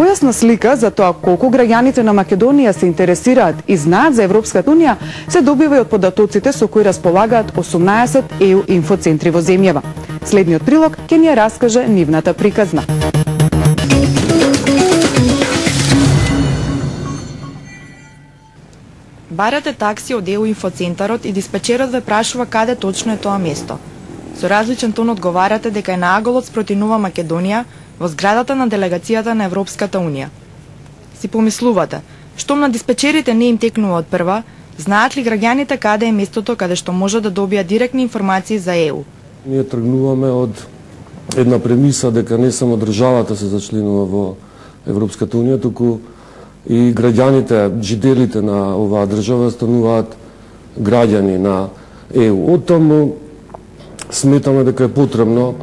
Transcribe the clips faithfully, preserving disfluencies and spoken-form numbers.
Појасна слика за тоа колку граѓаните на Македонија се интересираат и знаат за Европската унија се добива и од податоците со кои располагаат осумнаесет Е У инфоцентри во земјава. Следниот прилог ќе ни ја раскаже нивната приказна. Барате такси од Е У инфоцентарот и диспачерот ве прашува каде точно е тоа место. Со различен тон одговарате дека е на аголот спроти Нова Македонија, во зградата на делегацијата на Европската унија. Си помислувате, штом на диспечерите не им текнува од прва, знаат ли граѓаните каде е местото каде што може да добија директни информации за Е У? Ние тргнуваме од една премиса дека не само државата се зачленува во Европската унија, туку и граѓаните, жителите на оваа држава стануваат граѓани на Е У. Од таму сметаме дека е потребно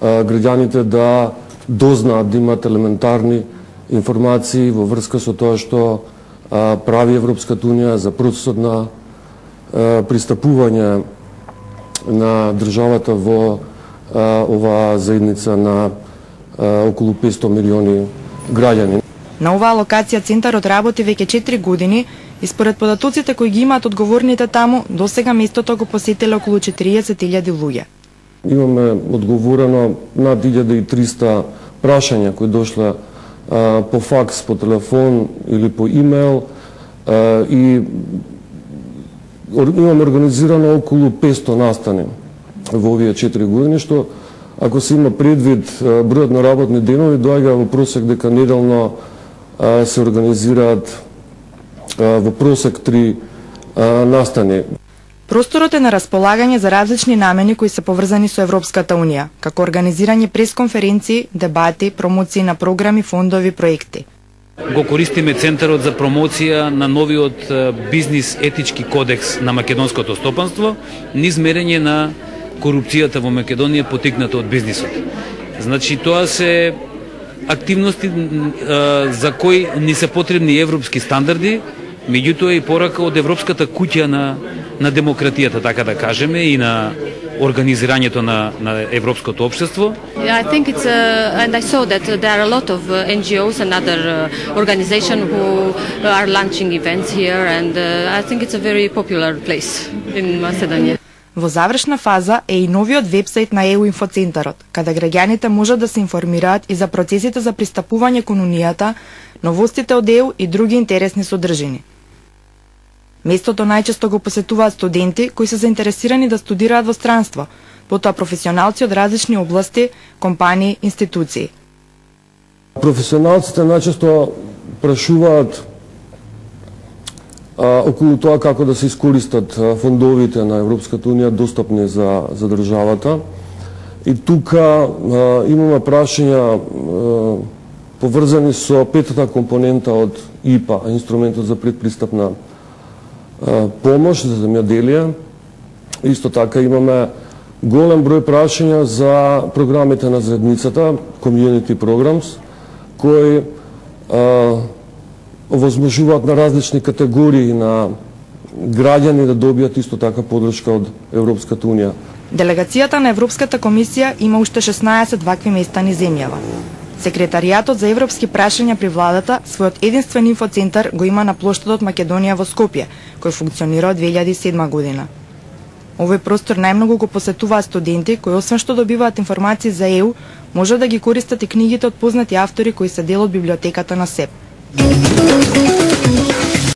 а, граѓаните да дознаат, да имат елементарни информации во врска со тоа што а, прави Европската унија за процесот на а, пристапување на државата во а, оваа заедница на а, околу петстотини милиони граѓани. На оваа локација центарот работи веќе четири години и според податоците кои ги имаат одговорните таму, досега местото го посетиле околу четириесет илјади луѓе. Имаме одговорено над илјада и триста прашања кои дошле а, по факс, по телефон или по имейл а, и имаме организирано околу петстотини настани во овие четири години, што ако се има предвид а, бројот на работни денови, доаѓа во просек дека неделно а, се организираат а, во просек три а, настани. Просторот е на располагање за различни намени кои се поврзани со Европската унија, како организирање пресконференции, дебати, промоции на програми, фондови, проекти. Го користиме центарот за промоција на новиот бизнис етички кодекс на македонското стопанство, низ мерење на корупцијата во Македонија потикната од бизнисот. Значи тоа се активности за кои ни се потребни европски стандарди, меѓутоа и порака од Европската куќа на на демократијата, така да кажеме, и на организирањето на на европското општество. I think it's uh, and I saw that there are a lot of uh, N G Os and other uh, organizations who are launching events here, and uh, I think it's a very popular place in Macedonia. Во завршна фаза е и новиот вебсајт на Е У инфоцентарот, каде граѓаните можат да се информираат и за процесите за пристапување кон унијата, новостите од Е У и други интересни содржини. Местото најчесто го посетуваат студенти кои се заинтересирани да студираат во странство, потоа професионалци од различни области, компании, институции. Професионалците најчесто прашуваат а, околу тоа како да се искористат фондовите на Европската унија достапни за, за државата. И тука а, имаме прашања а, поврзани со петата компонента од И П А, инструментот за предпристапна помош за земјоделие. Исто така имаме голем број прашања за програмите на заедницата, Community Programs, кои а, овозможуваат на различни категории на граѓани да добијат исто така подршка од Европската унија. Делегацијата на Европската комисија има уште шеснаесет вакви места низ земјава. Секретаријатот за европски прашања при владата својот единствен инфоцентар го има на плоштадот Македонија во Скопје, кој функционира од две илјади и седма година. Овој простор најмногу го посетуваат студенти кои освен што добиваат информации за Е У, може да ги користат и книгите од познати автори кои се дел од библиотеката на СЕП.